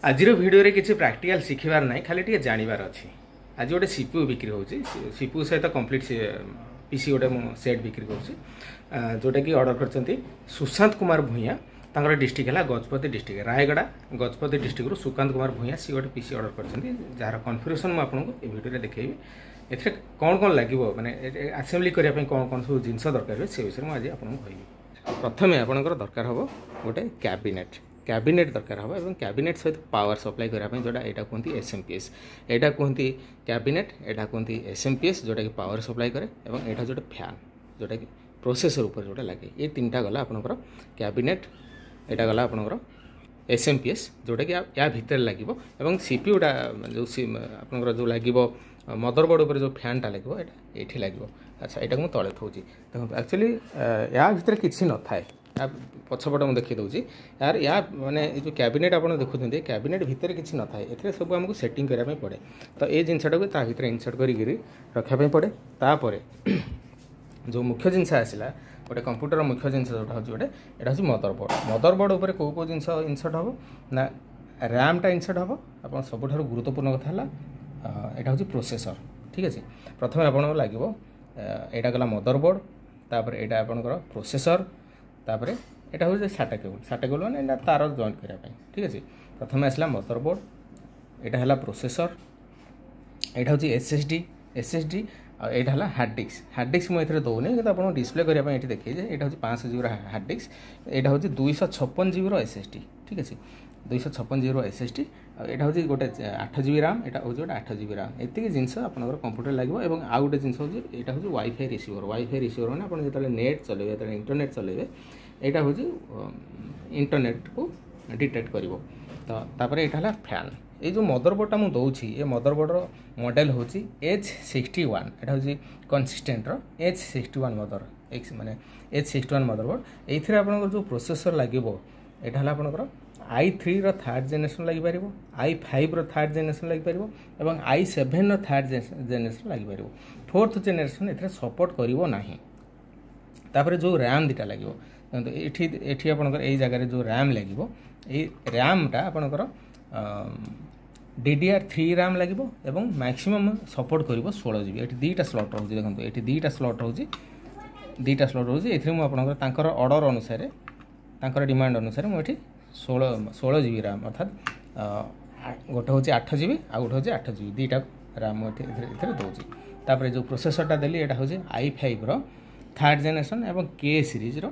ଆଜିର ଭିଡ଼ିଓରେ କିଛି ପ୍ରାକ୍ଟିକାଲ ଶିଖିବାର ନାହିଁ, ଖାଲି ଟିକେ ଜାଣିବାର ଅଛି। ଆଜି ଗୋଟେ ସିପିୟୁ ବିକ୍ରି ହେଉଛି। ସିପିୟୁ ସହିତ କମ୍ପ୍ଲିଟ୍ ପିସି ଗୋଟେ ମୁଁ ସେଟ୍ ବିକ୍ରି କରୁଛି, ଯେଉଁଟାକି ଅର୍ଡ଼ର କରିଛନ୍ତି ସୁଶାନ୍ତ କୁମାର ଭୂଇଁଆ। ତାଙ୍କର ଡିଷ୍ଟ୍ରିକ୍ଟ ହେଲା ଗଜପତି ଡିଷ୍ଟ୍ରିକ୍ଟ, ରାୟଗଡ଼ା ଗଜପତି ଡିଷ୍ଟ୍ରିକ୍ଟରୁ ସୁକାନ୍ତ କୁମାର ଭୂଇଁଆ। ସିଏ ଗୋଟେ ପିସି ଅର୍ଡ଼ର କରିଛନ୍ତି, ଯାହାର କନଫିଗରେସନ୍ ମୁଁ ଆପଣଙ୍କୁ ଏ ଭିଡ଼ିଓରେ ଦେଖେଇବି। ଏଥିରେ କ'ଣ କ'ଣ ଲାଗିବ, ମାନେ ଆସେମ୍ବଲି କରିବା ପାଇଁ କ'ଣ କ'ଣ ସବୁ ଜିନିଷ ଦରକାର ହୁଏ, ସେ ବିଷୟରେ ମୁଁ ଆଜି ଆପଣଙ୍କୁ କହିବି। ପ୍ରଥମେ ଆପଣଙ୍କର ଦରକାର ହେବ ଗୋଟେ କ୍ୟାବିନେଟ୍। କ୍ୟାବିନେଟ୍ ଦରକାର ହେବ ଏବଂ କ୍ୟାବିନେଟ୍ ସହିତ ପାୱାର ସପ୍ଲାଏ କରିବା ପାଇଁ ଯେଉଁଟା, ଏଇଟା କୁହନ୍ତି ଏସ୍ ଏମ୍ ପି ଏସ୍। ଏଇଟା କୁହନ୍ତି କ୍ୟାବିନେଟ୍, ଏଇଟା କୁହନ୍ତି ଏସ୍ ଏମ୍ ପି ଏସ୍, ଯେଉଁଟାକି ପାୱାର ସପ୍ଲାଏ କରେ ଏବଂ ଏଇଟା ଗୋଟେ ଫ୍ୟାନ୍, ଯେଉଁଟାକି ପ୍ରୋସେସର୍ ଉପରେ ଯେଉଁଟା ଲାଗେ। ଏ ତିନିଟା ଗଲା ଆପଣଙ୍କର କ୍ୟାବିନେଟ୍, ଏଇଟା ଗଲା ଆପଣଙ୍କର ଏସ୍ ଏମ୍ ପି ଏସ୍, ଯେଉଁଟାକି ୟା ଭିତରେ ଲାଗିବ ଏବଂ ସିପିୟୁଟା ଯେଉଁ ଆପଣଙ୍କର ଯେଉଁ ଲାଗିବ, ମଦରବୋର୍ଡ଼ ଉପରେ ଯେଉଁ ଫ୍ୟାନ୍ଟା ଲାଗିବ, ଏଇଟା ଏଇଠି ଲାଗିବ। ଆଚ୍ଛା, ଏଇଟାକୁ ମୁଁ ତଳେ ଥୋଉଛି। ଦେଖନ୍ତୁ, ଆକ୍ଚୁଆଲି ୟା ଭିତରେ କିଛି ନଥାଏ। ୟା ପଛପଟ ମୁଁ ଦେଖାଇ ଦେଉଛି। ୟାର ୟା ମାନେ ଏ ଯେଉଁ କ୍ୟାବିନେଟ୍ ଆପଣ ଦେଖୁଛନ୍ତି, କ୍ୟାବିନେଟ୍ ଭିତରେ କିଛି ନଥାଏ। ଏଥିରେ ସବୁ ଆମକୁ ସେଟିଂ କରିବା ପାଇଁ ପଡ଼େ। ତ ଏ ଜିନିଷଟାକୁ ତା ଭିତରେ ଇନସର୍ଟ କରିକିରି ରଖିବା ପାଇଁ ପଡ଼େ। ତାପରେ ଯେଉଁ ମୁଖ୍ୟ ଜିନିଷ ଆସିଲା, ଗୋଟେ କମ୍ପ୍ୟୁଟର ମୁଖ୍ୟ ଜିନିଷ ଯେଉଁଟା ହେଉଛି ଗୋଟେ, ଏଇଟା ହେଉଛି ମଦରବୋର୍ଡ଼। ମଦରବୋର୍ଡ଼ ଉପରେ କେଉଁ କେଉଁ ଜିନିଷ ଇନସର୍ଟ ହେବ ନା, ର୍ୟାମ୍ଟା ଇନସର୍ଟ ହେବ। ଆପଣ ସବୁଠାରୁ ଗୁରୁତ୍ୱପୂର୍ଣ୍ଣ କଥା ହେଲା ଏଇଟା ହେଉଛି ପ୍ରୋସେସର୍। ଠିକ୍ ଅଛି, ପ୍ରଥମେ ଆପଣଙ୍କୁ ଲାଗିବ ଏଇଟା ଗଲା ମଦରବୋର୍ଡ଼, ତାପରେ ଏଇଟା ଆପଣଙ୍କର ପ୍ରୋସେସର୍, ତାପରେ ଏଇଟା ହେଉଛି ସାଟା କେବୁଲ୍। ସାଟା କେବୁଲ୍ ମାନେ ଏଇଟା ତାର ଜଏଣ୍ଟ କରିବା ପାଇଁ। ଠିକ୍ ଅଛି, ପ୍ରଥମେ ଆସିଲା ମଦରବୋର୍ଡ଼, ଏଇଟା ହେଲା ପ୍ରୋସେସର୍, ଏଇଟା ହେଉଛି S S D, S S D ଆଉ ଏଇଟା ହେଲା ହାର୍ଡ଼ ଡିସ୍କ। ହାର୍ଡ଼ ଡିସ୍କ ମୁଁ ଏଥିରେ ଦେଉନି, କିନ୍ତୁ ଆପଣଙ୍କୁ ଡିସପ୍ଲେ କରିବା ପାଇଁ ଏଠି ଦେଖେଇ ଯେ ଏଇଟା ହେଉଛି 500 ଜିବିର ହାର୍ଡ଼ ଡିସ୍କ, ଏଇଟା ହେଉଛି 256 ଜିବିର ଏସ୍ ଏସ୍ ଡି। ଠିକ୍ ଅଛି, 256 ଜିବିର ଏସ୍ ଏସ୍ ଡି ଆଉ ଏଇଟା ହେଉଛି ଗୋଟେ 8 ଜିବି ରାମ୍, ଏଇଟା ହେଉଛି ଗୋଟେ 8 ଜିବି ରାମ୍। ଏତିକି ଜିନିଷ ଆପଣଙ୍କର କମ୍ପ୍ୟୁଟର ଲାଗିବ ଏବଂ ଆଉ ଗୋଟେ ଜିନିଷ ହେଉଛି, ଏଇଟା ହେଉଛି ୱାଇଫାଇ ରିସିଭର। ୱାଇଫାଇ ରିସିଭର ମାନେ ଆପଣ ଯେତେବେଳେ ନେଟ୍ ଚଲେଇବେ, ଯେତେବେଳେ ଇଣ୍ଟରନେଟ୍ ଚଲେଇବେ, ଏଇଟା ହେଉଛି ଇଣ୍ଟରନେଟ୍କୁ ଡିଟେକ୍ଟ କରିବ। ତ ତାପରେ ଏଇଟା ହେଲା ଫ୍ୟାନ୍। ଏଇ ଯେଉଁ ମଦରବୋର୍ଡ଼ଟା ମୁଁ ଦେଉଛି, ଏ ମଦରବୋର୍ଡ଼ର ମଡ଼େଲ୍ ହେଉଛି ଏଚ୍ 61। ଏଇଟା ହେଉଛି କନସିଷ୍ଟେଣ୍ଟର ଏଚ୍ 61 ମଦର ଏକ୍ସ, ମାନେ ଏଚ୍ 61 ମଦରବୋର୍ଡ଼। ଏଇଥିରେ ଆପଣଙ୍କର ଯେଉଁ ପ୍ରୋସେସର୍ ଲାଗିବ, ଏଇଟା ହେଲା ଆପଣଙ୍କର I 3ର ଥାର୍ଡ଼ ଜେନେରେସନ୍ ଲାଗିପାରିବ, I 5ର ଥାର୍ଡ଼ ଜେନେରେସନ୍ ଲାଗିପାରିବ ଏବଂ I 7ର ଥାର୍ଡ଼ ଜେନେରେସନ୍ ଲାଗିପାରିବ। ଫୋର୍ଥ ଜେନେରେସନ୍ ଏଥିରେ ସପୋର୍ଟ କରିବ ନାହିଁ। ତାପରେ ଯେଉଁ ର୍ୟାମ୍ ଦୁଇଟା ଲାଗିବ, ଦେଖନ୍ତୁ, ଏଠି ଆପଣଙ୍କର ଏଇ ଜାଗାରେ ଯେଉଁ ର୍ୟାମ୍ ଲାଗିବ, ଏଇ ର୍ୟାମ୍ଟା ଆପଣଙ୍କର ଡିଡିଆର୍ 3 ର୍ୟାମ୍ ଲାଗିବ ଏବଂ ମ୍ୟାକ୍ସିମମ୍ ସପୋର୍ଟ କରିବ 16 ଜିବି। ଏଠି ଦୁଇଟା ସ୍ଲଟ୍ ରହୁଛି। ଦେଖନ୍ତୁ, ଏଠି ଦୁଇଟା ସ୍ଲଟ୍ ରହୁଛି, ଦୁଇଟା ସ୍ଲଟ୍ ରହୁଛି। ଏଥିରେ ମୁଁ ଆପଣଙ୍କର ତାଙ୍କର ଅର୍ଡ଼ର ଅନୁସାରେ, ତାଙ୍କର ଡିମାଣ୍ଡ ଅନୁସାରେ ମୁଁ ଏଠି 16 ଜିବି ର୍ୟାମ୍, ଅର୍ଥାତ୍ ଗୋଟେ ହେଉଛି 8 ଜିବି ଆଉ ଗୋଟେ ହେଉଛି 8 ଜିବି, ଦୁଇଟା ର୍ୟାମ୍ ମୁଁ ଏଠି ଏଥିରେ ଦେଉଛି। ତାପରେ ଯେଉଁ ପ୍ରୋସେସରଟା ଦେଲି, ଏଇଟା ହେଉଛି I 5ର ଥାର୍ଡ଼ ଜେନେରେସନ୍ ଏବଂ କେ ସିରିଜ୍ର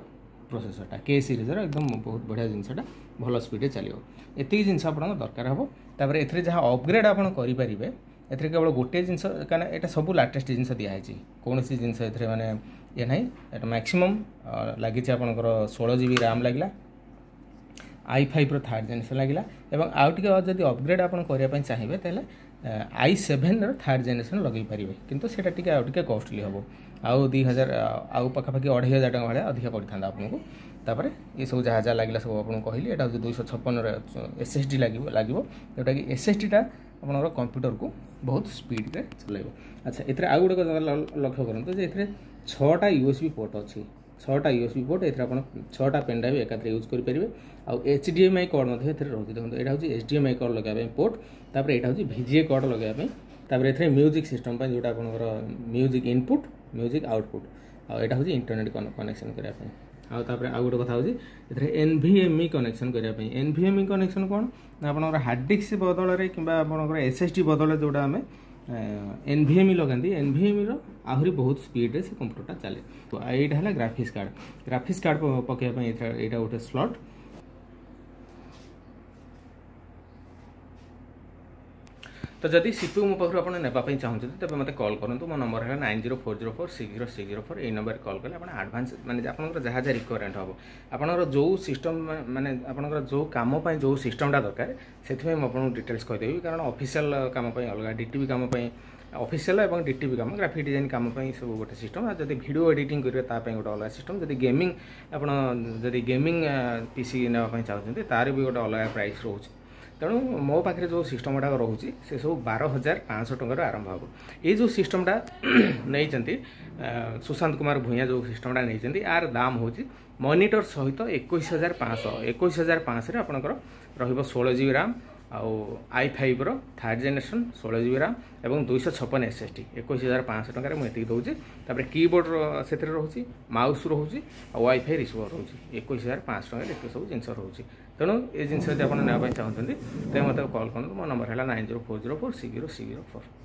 ପ୍ରୋସେସରଟା। କେ ସିରିଜ୍ର ଏକଦମ ବହୁତ ବଢ଼ିଆ ଜିନିଷଟା, ଭଲ ସ୍ପିଡ଼ରେ ଚାଲିବ। ଏତିକି ଜିନିଷ ଆପଣଙ୍କ ଦରକାର ହେବ। ତାପରେ ଏଥିରେ ଯାହା ଅପଗ୍ରେଡ଼ ଆପଣ କରିପାରିବେ, ଏଥିରେ କେବଳ ଗୋଟିଏ ଜିନିଷ, କାରଣ ଏଇଟା ସବୁ ଲାଟେଷ୍ଟ ଜିନିଷ ଦିଆହେଇଛି। କୌଣସି ଜିନିଷ ଏଥିରେ ମାନେ ଇଏ ନାହିଁ। ଏଇଟା ମ୍ୟାକ୍ସିମମ୍ ଲାଗିଛି ଆପଣଙ୍କର 16 ଜିବି ରାମ୍ ଲାଗିଲା, I 5ର ଥାର୍ଡ଼ ଜେନେରେସନ୍ ଲାଗିଲା ଏବଂ ଆଉ ଟିକେ ଯଦି ଅପଗ୍ରେଡ଼ ଆପଣ କରିବା ପାଇଁ ଚାହିଁବେ, ତାହେଲେ I 7ର ଥାର୍ଡ଼ ଜେନେରେସନ୍ ଲଗେଇ ପାରିବେ। କିନ୍ତୁ ସେଇଟା ଟିକେ ଆଉ ଟିକେ କଷ୍ଟଲି ହେବ, ଆଉ 2000, ଆଉ ପାଖାପାଖି 2500 ଟଙ୍କା ଭଳିଆ ଅଧିକା ପଡ଼ିଥାନ୍ତା ଆପଣଙ୍କୁ। ତାପରେ ଏସବୁ ଯାହା ଯାହା ଲାଗିଲା ସବୁ ଆପଣଙ୍କୁ କହିଲି। ଏଇଟା ହେଉଛି 256ର ଏସ୍ ଏସ୍ ଡି ଲାଗିବ, ଯେଉଁଟାକି ଏସ୍ ଏସ୍ ଡିଟା ଆପଣଙ୍କର କମ୍ପ୍ୟୁଟରକୁ ବହୁତ ସ୍ପିଡ଼ରେ ଚଲାଇବ। ଆଚ୍ଛା, ଏଥିରେ ଆଉ ଗୋଟେ କଥା ଲକ୍ଷ୍ୟ କରନ୍ତୁ ଯେ ଏଥିରେ ଛଅଟା ୟୁ ଏସ୍ ବି ପୋର୍ଟ ଅଛି, ଛଅଟା ୟୁ ଏସ୍ ବି ପୋର୍ଟ। ଏଥିରେ ଆପଣ ଛଅଟା ପେନ୍ ଡ୍ରାଇଭ୍ ଏକାଥରେ ୟୁଜ୍ କରିପାରିବେ ଆଉ H D M I cord ମଧ୍ୟ ଏଥିରେ ରହୁଛି। ଦେଖନ୍ତୁ, ଏଇଟା ହେଉଛି H D M I cord ଲଗାଇବା ପାଇଁ ପୋର୍ଟ, ତାପରେ ଏଇଟା ହେଉଛି ଭି ଜି ଏ କର୍ଡ଼ ଲଗାଇବା ପାଇଁ, ତାପରେ ଏଥିରେ ମ୍ୟୁଜିକ୍ ସିଷ୍ଟମ୍ ପାଇଁ ଯେଉଁଟା ଆପଣଙ୍କର ମ୍ୟୁଜିକ୍ ଇନପୁଟ୍, ମ୍ୟୁଜିକ୍ ଆଉଟପୁଟ୍ ଆଉ ଏଇଟା ହେଉଛି ଇଣ୍ଟରନେଟ୍ କନେକ୍ସନ୍ କରିବା ପାଇଁ। ଆଉ ତାପରେ ଆଉ ଗୋଟେ କଥା ହେଉଛି ଏଥିରେ N V M E connection କରିବା ପାଇଁ। N V M E connection କ'ଣ ନା, ଆପଣଙ୍କର ହାର୍ଡ଼ ଡିସ୍କ ବଦଳରେ କିମ୍ବା ଆପଣଙ୍କର ଏସ୍ ଏସ୍ ଡି ବଦଳରେ ଯେଉଁଟା ଆମେ N V M E ଲଗାନ୍ତି, ଏନ୍ ଭି ଏମ୍ ଇର ଆହୁରି ବହୁତ ସ୍ପିଡ଼ରେ ସେ କମ୍ପ୍ୟୁଟରଟା ଚାଲେ। ତ ଏଇଟା ହେଲା ଗ୍ରାଫିକ୍ସ କାର୍ଡ଼। ଗ୍ରାଫିକ୍ସ କାର୍ଡ଼ ପକାଇବା ପାଇଁ ଏଇଟା ଗୋଟେ ସ୍ଲଟ୍। ତ ଯଦି ସିପିୟୁ ମୋ ପାଖରୁ ଆପଣ ନେବା ପାଇଁ ଚାହୁଁଛନ୍ତି, ତେବେ ମୋତେ କଲ୍ କରନ୍ତୁ। ମୋ ନମ୍ବର ହେଲା 9040460604। ଏଇ ନମ୍ବରରେ କଲ୍ କଲେ ଆପଣ ଆଡ଼ଭାନ୍ସ, ମାନେ ଆପଣଙ୍କର ଯାହା ଯାହା ରିକ୍ୱାରମେଣ୍ଟ ହେବ, ଆପଣଙ୍କର ଯେଉଁ ସିଷ୍ଟମ୍, ମାନେ ଆପଣଙ୍କର ଯେଉଁ କାମ ପାଇଁ ଯେଉଁ ସିଷ୍ଟମ୍ଟା ଦରକାର, ସେଥିପାଇଁ ମୁଁ ଆପଣଙ୍କୁ ଡିଟେଲ୍ସ କହିଦେବି। କାରଣ ଅଫିସିଆଲ କାମ ପାଇଁ ଅଲଗା, ଡିଟିପି କାମ ପାଇଁ, ଅଫିସିଆଲ ଏବଂ ଡିଟିପି କାମ, ଗ୍ରାଫିକ୍ ଡିଜାଇନ୍ କାମ ପାଇଁ ସବୁ ଗୋଟେ ସିଷ୍ଟମ୍। ଆଉ ଯଦି ଭିଡ଼ିଓ ଏଡ଼ିଟିଂ କରିବେ, ତା ପାଇଁ ଗୋଟେ ଅଲଗା ସିଷ୍ଟମ୍। ଯଦି ଗେମିଂ, ଆପଣ ଯଦି ଗେମିଂ ପିସି ନେବା ପାଇଁ ଚାହୁଁଛନ୍ତି, ତାର ବି ଗୋଟେ ଅଲଗା ପ୍ରାଇସ୍ ରହୁଛି। ତେଣୁ ମୋ ପାଖରେ ଯେଉଁ ସିଷ୍ଟମ୍ ଗୁଡ଼ାକ ରହୁଛି, ସେସବୁ 12,500 ଟଙ୍କାରୁ ଆରମ୍ଭ ହେବ। ଏଇ ଯେଉଁ ସିଷ୍ଟମ୍ଟା ନେଇଛନ୍ତି ସୁଶାନ୍ତ କୁମାର ଭୂଇଁଆ, ଯେଉଁ ସିଷ୍ଟମ୍ଟା ନେଇଛନ୍ତି, ୟାର ଦାମ ହେଉଛି ମନିଟର ସହିତ 21,500। 21,500ରେ ଆପଣଙ୍କର ରହିବ 16 ଜିବି ରାମ୍, ଆଉ i5ର ଥାର୍ଡ଼ ଜେନେରେସନ୍, 16 ଜିବି ରାମ୍ ଏବଂ 256 SSD, 21,500 ଟଙ୍କାରେ ମୁଁ ଏତିକି ଦେଉଛି। ତାପରେ କିବୋର୍ଡ଼ ସେଥିରେ ରହୁଛି, ମାଉସ୍ ରହୁଛି ଆଉ ୱାଇଫାଇ ରିସିଭର ରହୁଛି। 21,500 ଟଙ୍କାରେ ଏତେ ସବୁ ଜିନିଷ ରହୁଛି। ତେଣୁ ଏ ଜିନିଷ ଯଦି ଆପଣ ନେବା ପାଇଁ ଚାହୁଁଛନ୍ତି, ତେବେ ମୋତେ କଲ୍ କରନ୍ତୁ। ମୋ ନମ୍ବର ହେଲା 9040460604।